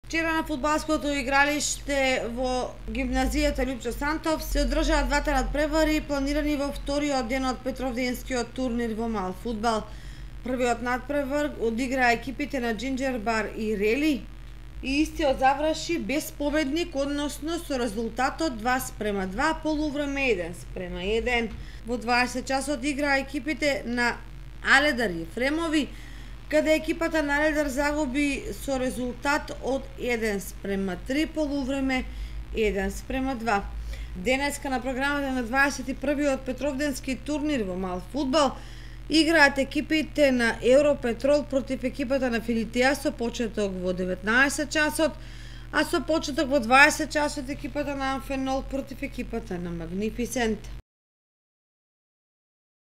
Вчера на фудбалското игралиште во гимназијата Лјупчо Сантов се одржаа двата надпревари планирани во вториот ден од Петровденскиот турнир во мал фудбал. Првиот надпревар одиграа екипите на Джинџер Бар и Рели и истиот заврши без победник, односно со резултатот 2:2, полувреме 1:1. Во 20 часот играа екипите на Аледар и Ефремови, каде екипата на Аледар загуби со резултат од 1:3, полувреме 1:2. Денеска на програмата на 21-иот Петровденски турнир во мал фудбал играат екипите на Европетрол против екипата на Филитија со почеток во 19 часот, а со почеток во 20 часот екипата на Амфенол против екипата на Магнифисент.